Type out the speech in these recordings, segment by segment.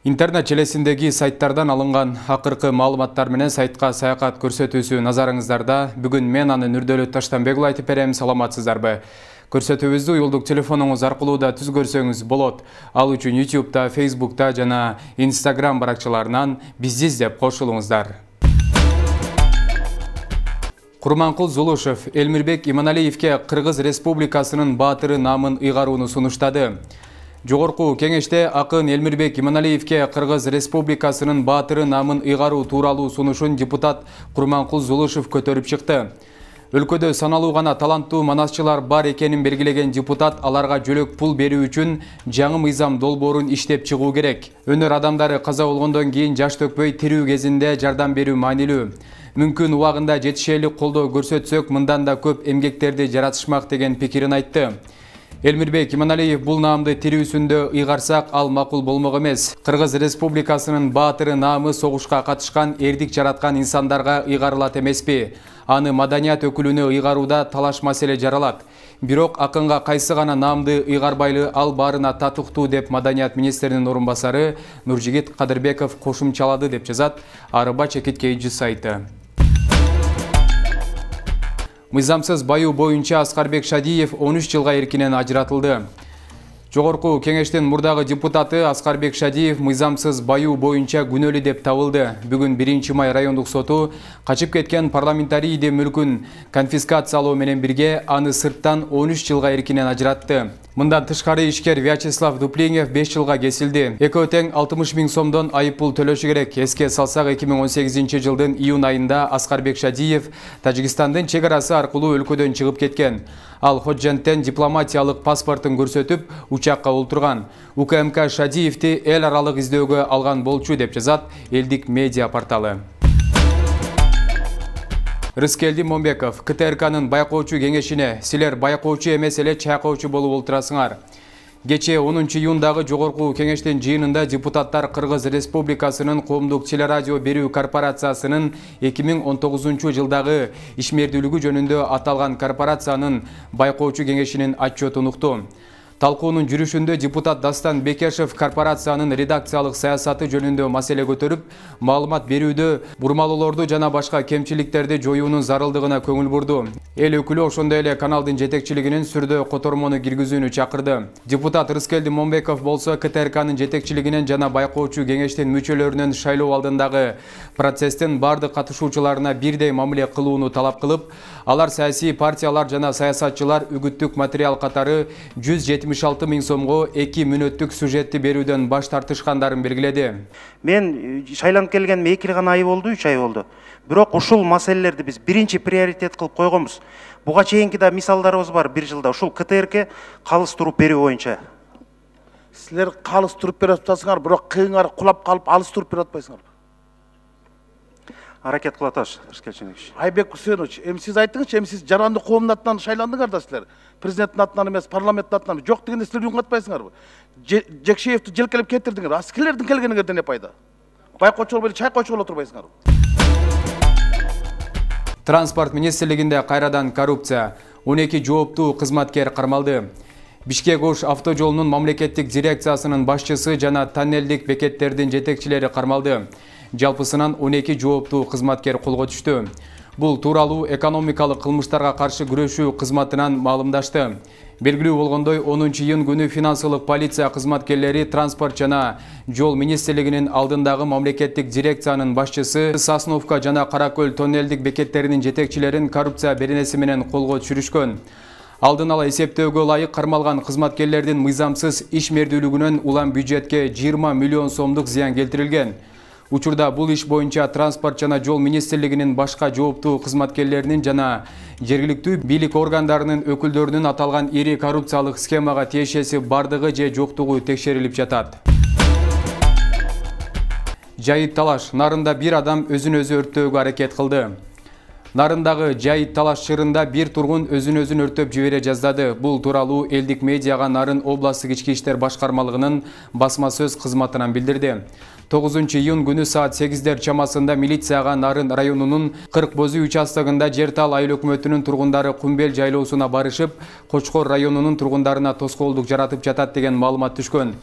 Интернет желесиндеги сайттардан алынган акыркы маалыматтар менен сайтка саякат көрсөтүүсү назарыңыздарда. Бүгүн мен анын Нурдөлөт Таштанбекұлы айтып берем. Саламатсыздарбы? Көрсөтүүбүздү уюлдук телефонуңуз аркылуу да түз көрсөңүз болот. Ал үчүн YouTube'да, Facebook'та жана Instagram баракчаларынан бизди издеп кошулуңуздар. Курманкул Зулушев Элмирбек Иманалиевке Кыргыз Республикасынын баатыры намын ыйгарууну сунуштады. Жогорку кеңеште акын Элмирбек Иманалиевке Кыргыз Республикасынын баатыры намын ыйгаруу тууралуу сунушун депутат Курманкул Зулушев көтөрүп чыкты. Өлкөдө саналуу гана таланттуу манасчылар бар экенин белгилеген депутат аларга жөлөк пул берүү үчүн жаңы мыйзам долбоорун иштеп чыгуу керек. Өнөр адамдары каза болгондон кийин жаш төкпөй тирүү кезинде жардам берүү маанилүү. Мүмкүн убагында жетишээлик колдоо көрсөтсөк, мындан да көп эмгектерди жаратышмак деген пикирин айтты. Элмирбек Иманалиев бул наамды тирүүсүндө ыйгарсак, ал макул болмок эмес. Кыргыз Республикасынын баатыры наамы согушка катышкан, эрдик жараткан инсандарга ыйгарылат эмеспи? Аны маданият өкүлүнө ыйгарууда талаш маселе жаралат. Бирок акынга кайсы гана наамды ыйгарбайлы, ал баарына татыктуу деп маданият министринин орун басары Нуржигит Кадырбеков кошумчалады деп жазат Арыба Чекиткейчи сайты. Мыйзамсыз баюу боюнча Аскарбек Шадиев 13 жылга эркинен ажыратылды. Жогорку кеңештин мурдагы депутаты Аскарбек Шадиев мыйзамсыз баюу боюнча күнөөлүү деп табылды. Бүгүн 1-май райондук соту качып кеткен парламентарийди мүлкүн конфискациялоо менен бирге аны сырттан 13 жылга эркинен ажыратты. Мындан тышкары ишкер Вячеслав Дуплинев 5 жылга кесилди. Экөө тең 60 000 сомдон айыппул төлөшү керек. Эске салсак, 2018 жылдын июнь айында Аскарбек Шадиев Тажикстандын чек арасы аркылуу өлкөдөн чыгып кеткен. Ал Ходженттен дипломатиялык паспортун көрсөтүп, учакка олтурган. УКМК Шадиевти эл аралык издөөгө алган болчу деп жазат Элдик медиа порталы. Рыскелди Момбеков КТРКнын байкоочу кеңешине: силер байкоочу эмес эле чайкоочу болуп олтурасыңар. Кечээ 10 июндагы жогорку кеңештин жыйынында депутаттар Кыргыз Республикасынын коомдук телерадио берүү корпорациясынын 2019 жылдагы ишмердүүлүгү жөнүндө аталган корпорациянын байкоочу кеңешинин отчетун укту. Талкуунун жүрүшүндө депутат Дастан Бекешев корпорациянын редакциялык саясаты жөнүндө маселе көтөрүп, маалымат берүүдө бурмалоолорду жана башка кемчиликтерди жоюунун зарылдыгына көңүл бурду. Эл өкүлү ошондой эле каналдын жетекчилигинин сүрдө котормону киргизүүнү чакырды. Депутат Рыскелди Момбеков болсо КТРКнын жетекчилигинен жана байкоочу кеңештин мүчөлөрүнүн шайлоо алдындагы процесстин бардык катышуучуларына бирдей мамиле кылууну талап кылып, алар саясий партиялар жана саясатчылар үгүттүк материал катары 176 000 сомго 2 мүнөттүк сюжетти берүүдөн баш тартышкандарын белгиледи. Мен шайланып келгениме 2 гана ай болду, 3 ай болду. Бирок ушул маселелерди биз биринчи приоритет кылып койгонбуз. Буга чейинки да мисалдарыбыз бар. Бир жылда ушул КТРК калыс туруп берүү боюнча. Силер калыс туруп берип атасыңар, бирок кыйыңар кулап калып алыс туруп берип атпайсыңар. Аракет кылып атабыз, Рыскелчинович. Айбек Хусейнович, сиз айттыңызчы, сиз жаранды коомдун атынан шайландыңар да силер. Президенттин атынан эмес, парламенттин атынан. Жок дегенде силер үн катпайсыңарбы? Жекшеевди желкелеп кетирдиңер. А силердин келгениңерден эмне пайда? Байкоочу болуп эле чайкоочу боло турбайсыңарбы? Транспорт министрлигинде кайрадан коррупция. 12 жооптуу кызматкер кармалды. Бишкек-Ош автожолунун мамлекеттик дирекциясынын башчысы жана тоннелдик бекеттердин жетекчилери кармалды. Жалпысынан 12 жооптуу кызматкер колго түштү. Бул тууралуу экономикалык кылмыштарга каршы күрөшүү кызматынан маалымдашты. Белгилүү болгондой, 10 июнь күнү финансылык полиция кызматкерлери транспорт жана жол министрлигинин алдындагы мамлекеттик дирекциянын башчысы, Сосновка жана Каракөл тоннелдик бекеттеринин жетекчилерин коррупция беренеси менен колго түшүрүшкөн. Алдын ала эсептөөгө ылайык кармалган кызматкерлердин мыйзамсыз ишмердүүлүгүнөн улам бюджетке 20 миллион сомдук зыян келтирилген. Учурда бул иш боюнча транспорт жана жол министрлигинин башка жооптуу кызматкерлеринин жана жергиликтүү бийлик органдарынын өкүлдөрүнүн аталган ири коррупциялык схемага тиешеси бардыгы же жоктугу текшерилип жатат. Жайыт талаш. Нарында бир адам өзүн өзү өрттөөгө аракет кылды. Нарындагы Жайыт талаш чырында бир тургун өзүн өрттөп жибере жаздады. Бул тууралуу Элдик медиага Нарын областык ички иштер башкармалыгынын басма сөз кызматынан билдирди. 9 июнь күнү саат 8 чамасында милицияга Нарын районунун 40 Бозүй участогунда Жер Тал айыл өкмөтүнүн тургундары Кумбел жайлоосуна барышып, Кочкор районунун тургундарына тоскоолдук жаратып жатат деген маалымат түшкөн.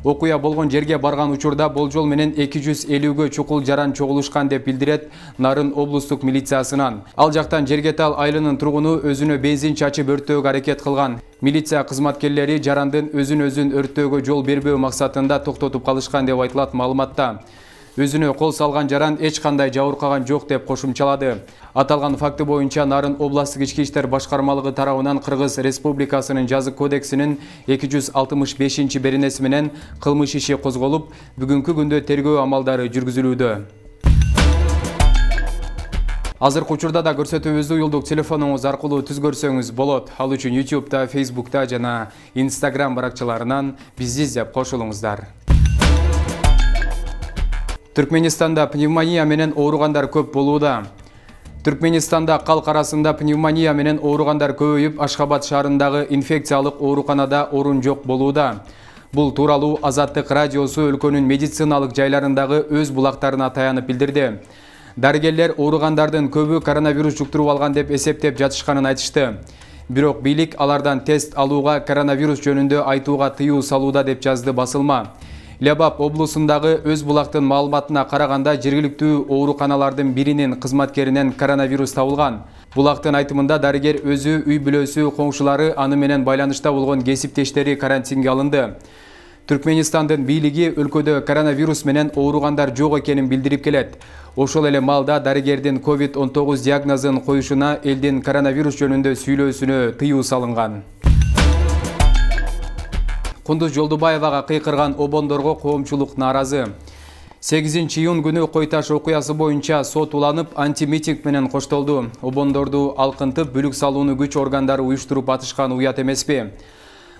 Окуя болгон жерге барган учурда болжол менен 250гө чукул жаран чогулушкан деп билдирет Нарын облустук милициясынан. Ал жактан Жергетал айылынын тургуну өзүнө бензин чачып өрттөөгө аракет кылган. Милиция кызматкерлери жарандын өзүн өрттөөгө жол бербөө максатында токтотуп калышкан деп айтылат маалыматта. Өзүнө кол салган жаран эч кандай жабыркаган жок деп кошумчалады. Аталган факты боюнча Нарын областык ички иштер башкармалыгы тарабынан Кыргыз Республикасынын жазык кодексинин 265-беренеси менен кылмыш иши козголуп, бүгүнкү күндө тергөө амалдары жүргүзүлүүдө. Азыркы учурда да көрсөтүүбүздү уюлдук телефонуңуз аркылуу түзгөрсөңүз болот. Ал үчүн YouTube'да, Facebook'та жана Instagram баракчаларынан бизди издеп кошулуңуздар. Түркменистанда пневмония менен ооругандар көп болууда. Түркменистанда калк арасында пневмония менен ооругандар көбөйүп, Ашхабад шаарындагы инфекциялык ооруканада орун жок болууда. Бул тууралуу Азаттык радиосу өлкөнүн медициналык жайларындагы өз булактарына таянып билдирди. Дарыгерлер ооругандардын көбү коронавирус жуктуруп алган деп эсептеп жатышканын айтышты. Бирок бийлик алардан тест алууга, коронавирус жөнүндө айтууга тыюу салууда деп жазды басылма. Лебап облусундагы өз булактын маалыматына караганда жергиликтүү ооруканалардын биринин кызматкеринен коронавирус табылган. Булактын айтымында дарыгер өзү, үй бүлөсү, коңшулары, аны менен байланышта болгон кесиптештери карантинге алынды. Түркменистандын бийлиги өлкөдө коронавирус менен ооругандар жок экенин билдирип келет. Ошол эле маалда дарыгердин COVID-19 диагнозун коюшуна элдин коронавирус жөнүндө сүйлөөсүнө тыюу салынган. Кундуз Жолдубаевага кыйкырган обондорго коомчулук нааразы. 8-июнь күнү Кой Таш окуясы боюнча сот уланып, антимитинг менен коштолду. Обондорду алкынтып, бүлүк салууну күч органдары уюштуруп атышкан уят эмеспи?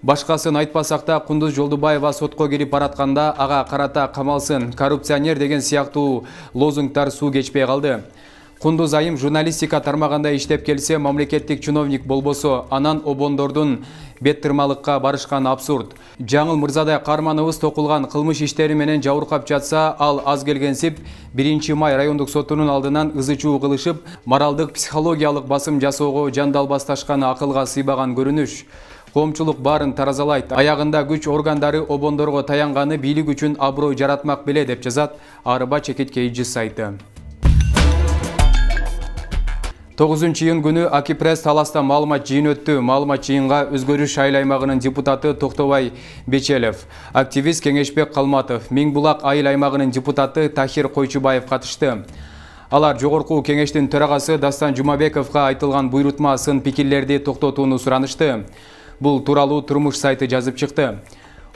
Башкасын айтпасак да, Кундуз Жолдубаева сотко кирип баратканда ага карата камалсын, коррупционер деген сыяктуу лозунгдар суу кечпей калды. Кундуз айым журналистика тармагында иштеп келсе, мамлекеттик чиновник болбосо, анан обондордун бет тырмалыкка барышкан абсурд. Жаңыл Мырзадай каарманыбыз токулган кылмыш иштери менен жабыркап жатса, ал аз келгенсип 1 май райондук сотунун алдынан ызы-чуу кылышып, моралдык психологиялык басым жасоого жандалбасташканы акылга сыйбаган көрүнүш. Коомчулук баарын таразалайт. Аягында күч органдары обондорго таянганы бийлик үчүн аброй жаратмак беле деп жазат Арыба Чекит Кж сайты. 9-июнь күнү Акипресс таласта маалымат жыйын өттү. Маалымат жыйынга Өзгөрүш айыл аймагынын депутаты Токтобай Бечелев, активист Кеңешбек Калматов, Миңбулак айыл аймагынын депутаты Тахир Койчубаев катышты. Алар жогорку кеңештин төрагасы Дастан Жумабековго айтылган буйрутма сын пикирлерди токтотууну суранышты. Бул тууралуу Турмуш сайты жазып чыкты.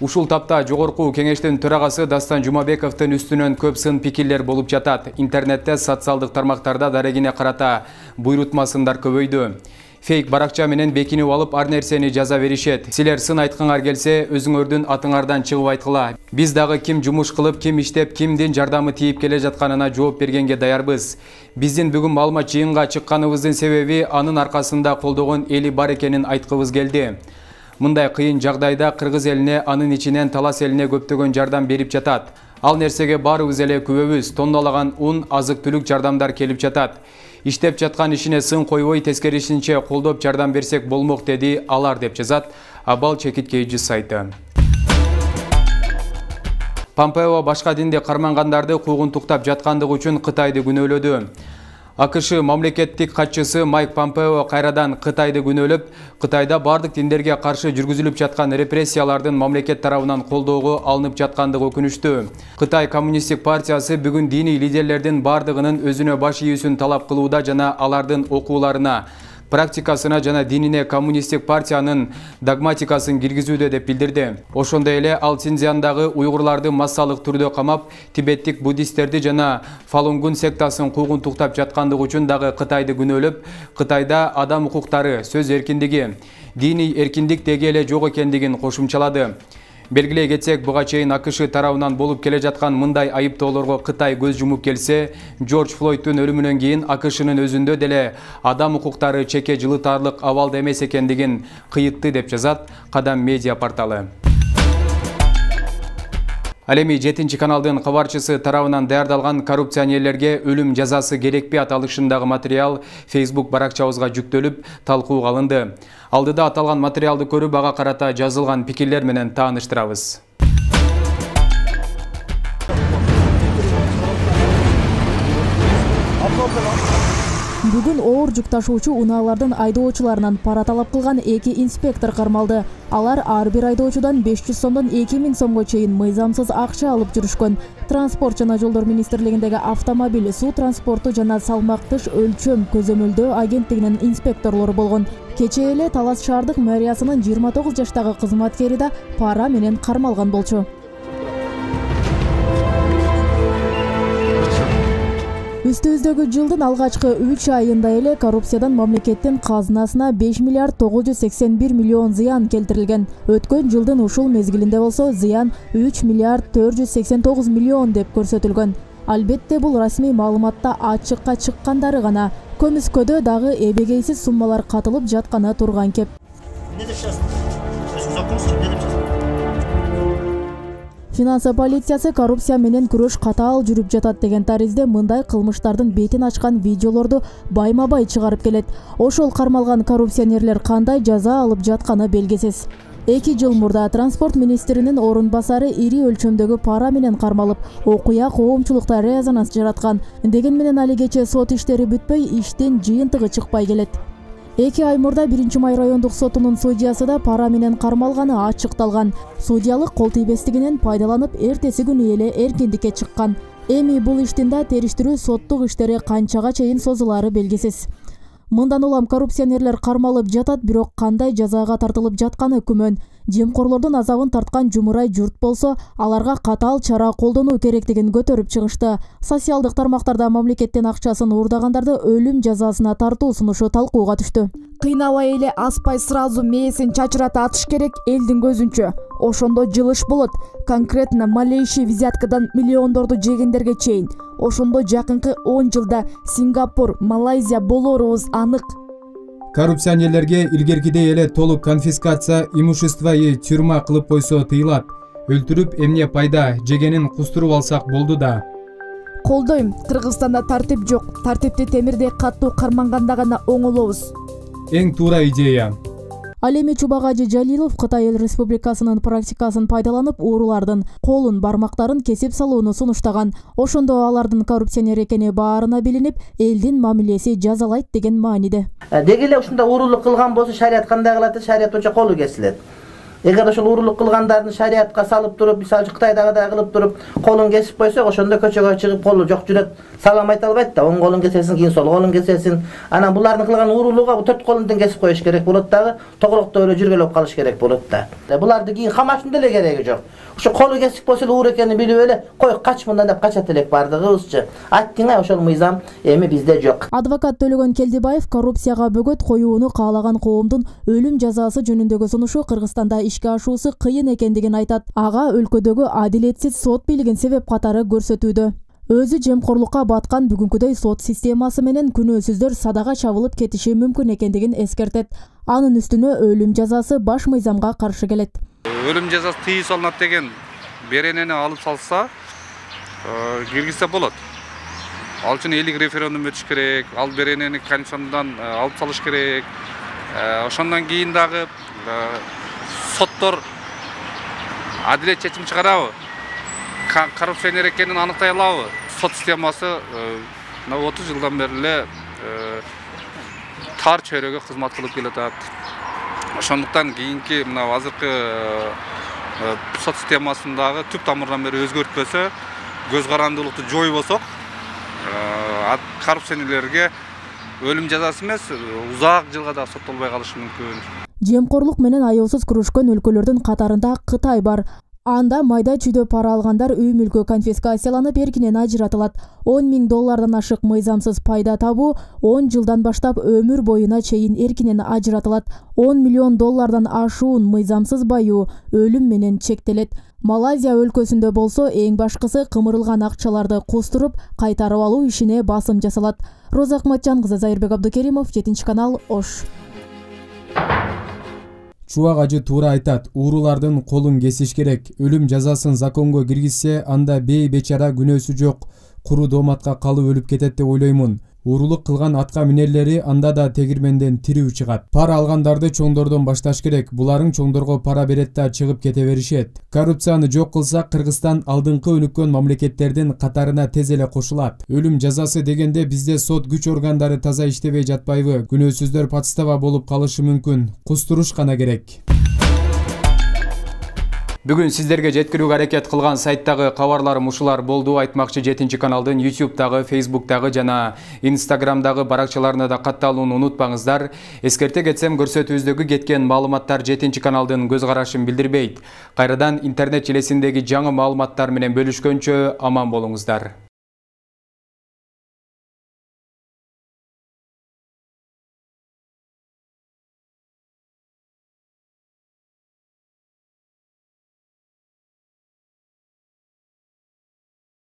Ушул тапта жогорку кеңештин төрагасы Дастан Жумабековдун үстүнөн көп сын пикирлер болуп жатат. Интернетте, социалдык тармактарда дарегине карата буйрутма сындар көбөйдү. Фейк баракча менен бекинип алып ар нерсени жаза беришет. Силер сын айткыңар келсе, өзүңөрдүн атыңардан чыгып айткыла. Биз дагы ким жумуш кылып, ким иштеп, кимдин жардамы тийип келе жатканына жооп бергенге даярбыз. Биздин бүгүн маалымат жыйынга чыкканыбыздын себеби анын аркасында колдогон эли бар экенин айткыбыз келди. Мындай кыйын жагдайда кыргыз элине, анын ичинен талас элине көптөгөн жардам берип жатат. Ал нерсеге баарыбыз эле күбөбүз. Тонналаган ун, азык-түлүк жардамдар келип жатат. Иштеп жаткан ишине сын койбой, тескерисинче колдоп жардам берсек болмок, деди алар деп жазат Абал Чекит Кж сайты. Помпео башка динди кармангандарды куугунтуктап жаткандыгы үчүн Кытайды күнөөлөдү. АКШ мамлекеттик катчысы Майк Помпео кайрадан Кытайды күнөөлөп, Кытайда бардык диндерге каршы жүргүзүлүп жаткан репрессиялардын мамлекет тарабынан колдоого алынып жаткандыгы өкүнүчтүү. Кытай коммунисттик партиясы бүгүн диний лидерлердин бардыгынын өзүнө баш ийүүсүн талап кылууда жана алардын окууларына, практикасына жана динине коммунисттик партиянын догматикасын киргизүүдө деп билдирди. Ошондой эле ал Синьцзяндагы уйгурларды массалык түрдө камап, тибеттик буддисттерди жана Фалунгун сектасын куугунтуктап жаткандыгы үчүн дагы Кытайды күнөөлөп, Кытайда адам укуктары, сөз эркиндиги, диний эркиндик деги эле жок экендигин кошумчалады. Белгилей кетсек, буга чейин АКШ тарабынан болуп келе жаткан мындай айыптоолорго Кытай көз жумуп келсе, Джордж Флойдтун өлүмүнөн кийин АКШнын өзүндө деле адам укуктары чеке жылытарлык абалда эмес экендигин кыйытты деп жазат Кадам медиа порталы. Ал эми 7-каналдын кабарчысы тарабынан даярдалган коррупционерлерге өлүм жазасы керекпи аталышындагы материал Facebook баракчабызга жүктөлүп, талкууга алынды. Алдыда аталган материалды көрүп, ага карата жазылган пикирлер менен тааныштырабыз. Бүгүн оор жүк ташуучу унаалардын айдоочуларынан пара талап кылган 2 инспектор кармалды. Алар ар бир айдоочудан 500 сомдон 2000 сомго чейин мыйзамсыз акча алып жүрүшкөн. Транспорт жана жолдор министрлигиндеги автомобиль, суу транспорту жана салмактыш өлчөм көзөмөлдөө агенттигинин инспекторлору болгон. Кечээ эле Талас шаардык мэриясынын 29 жаштагы кызматкери да пара менен кармалган болчу. Үстүбүздөгү жылдын алгачкы 3 айында эле коррупциядан мамлекеттин казынасына 5 миллиард 981 миллион зыян келтирилген. Өткөн жылдын ушул мезгилинде болсо зыян 3 миллиард 489 миллион деп көрсөтүлгөн. Албетте бул расмий маалыматта ачыкка чыккандары гана. Көмүскөдө дагы эбегейсиз суммалар катылып жатканы турган кеп. Финансы полициясы коррупция менен күрөш катаал жүрүп жатат деген таризде мындай кылмыштардын бетин ачкан видеолорду байма-бай чыгарып келет. Ошол кармалган коррупционерлер кандай жаза алып жатканы белгисиз. 2 жыл мурда транспорт министринин орун басары ири өлчөмдөгү пара менен кармалып, окуя коомчулукта резонанс жараткан. Деген менен алигече сот иштери бүтпөй, иштин жыйынтыгы чыкпай келет. 2 ай мурда 1-Май райондук сотунун судьясы да пара менен кармалганы ачыкталган. Судьялык кол тийбестигинен пайдаланып, эртеси күнү эле эркиндикке чыккан. Эми бул иштин да териштирүү соттук иштери канчага чейин созулары белгисиз. Мындан улам коррупционерлер кармалып жатат, бирок кандай жазага тартылып жатканы күмөн. Жемкорлордун азабын тарткан жумурай журт болсо, аларга катаал чара колдонуу керектигин көтөрүп чыгышты. Социалдык тармактарда мамлекеттин акчасын уурдагандарды өлүм жазасына тартуу сунушу талкууга түштү. Кыйнабай эле аспай сразу мээсин чачырата атыш керек элдин көзүнчө. Ошондо жылыш болот. Конкретно малейший взяткадан миллиондорду жегендерге чейин. Ошондо жакынкы 10 жылда Сингапур, Малайзия болорубуз анык. Коррупционерлерге илгеркидей эле толук конфискация имущества тюрьма кылып койсо тыйылат. Өлтүрүп эмне пайда жегенин кустуруп алсак болду да. Колдойм. Кыргызстанда тартип жок. Тартипти темирдей каттуу карманганда гана оңолобуз. Эң туура идея. Ал эми Чубагажы Жалилов Кытай Эл Республикасынын практикасын пайдаланып, уурулардын колун, бармактарын кесип салууну сунуштаган. Ошондо алардын коррупционер экени баарына билинип, элдин мамилеси жазалайт деген мааниде. Деги эле ушундай уурулук кылган болсо шарият кандай кылат? Шарият боюнча колу кесилет. Эгер ошол уурулук кылгандардын шариятка салып туруп, мисалы Кытайдагыдай кылып туруп, колун кесип койсок, ошондо көчөгө чыгып колу жок жүрөт, салам айта албайт да. Оң колун кесесиң, кийин сол колун кесесиң. Анан булардын кылган уурулууга 4 колундан кесип коюш керек болот дагы, тогулуктуу эле жүргөлөп калыш керек болот да. Буларды кийин камашын деле кереги жок. Ошо колу кесип койсо эле уур экенин билип эле, кой кач мындан деп качат элек бардыгыбызчы. Айттың ошол мыйзам эми бизде жок. Адвокат Төлөгөн Келдибаев коррупцияга бөгөт коюуну каалаган коомдун өлүм жазасы жөнүндөгү сунушу Кыргызстанда ишке ашуусу кыйын экендигин айтат. Ага өлкөдөгү адилетсиз сот бийлигин себеп катары көрсөтүүдө. Өзү жемкорлукка баткан бүгүнкүдөй сот системасы менен күнөөсүздөр садага чабылып кетиши мүмкүн экендигин эскертет. Анын үстүнө өлүм жазасы баш мыйзамга каршы келет. Өлүм жазасы тыйуу салынат деген беренени алып салса, киргизсе болот. Ал үчүн элдик референдум өтүш керек, ал беренени Конституциядан алып салыш керек. Ошондон кийин дагы соттор адилет чечим чыгарабы? Коррупционер экенин аныктай алабы? Сот системасы 30 жылдан бери эле тар чөйрөгө кызмат кылып келатат. Ошондуктан кийинки мына азыркы сот системасындагы түп тамырдан бери өзгөртпөсө, көз карандуулукту жойбосок, коррупционерлерге өлүм жазасы эмес, узак жылга да соттолбой калышы мүмкүн. Жемкорлук менен аяусыз күрөшкөн өлкөлөрдүн катарында Кытай бар. Анда майда чүйдө пара алгандар үй мүлкү конфискацияланып эркинен ажыратылат. $10,000 ашык мыйзамсыз пайда табуу 10 жылдан баштап өмүр боюна чейин эркинен ажыратылат. $10 миллион ашуун мыйзамсыз баюу өлүм менен чектелет. Малайзия өлкөсүндө болсо эң башкысы кымырылган акчаларды кустуруп кайтарып алуу ишине басым жасалат. Роза Акматжан кызы, Зайырбек Абдукеримов, 7 канал, Ош. Чубагажы туура айтат, уурулардын колун кесиш керек. Өлүм жазасын законго киргизсе, анда бей бечара күнөөсү жок, куру дооматка калып өлүп кетет деп ойлоймун. Уурулук кылган атка минерлери анда да тегирменден тирүү чыгат. Пара алгандарды чоңдордон башташ керек. Буларың чоңдорго пара берет да чыгып кете беришет. Коррупцияны жок кылсак, Кыргызстан алдыңкы өнүккөн мамлекеттердин катарына тез эле кошулат. Өлүм жазасы дегенде бизде сот күч органдары таза иштебей жатпайбы? Күнөөсүздөр подстава болуп калышы мүмкүн. Кустуруш гана керек. Бүгүн сиздерге жеткирүүгө аракет кылган сайттагы кабарларым ушулар болду. Айтмакчы 7 каналдын YouTube'дагы, Facebook'тагы жана Instagram'дагы баракчаларына да катталууну унутпаңыздар. Эскерте кетсем, көрсөтүүбүздөгү кеткен маалыматтар 7 каналдын көз карашын билдирбейт. Кайрадан интернет желесиндеги жаңы маалыматтар менен бөлүшкөнчө аман болуңуздар.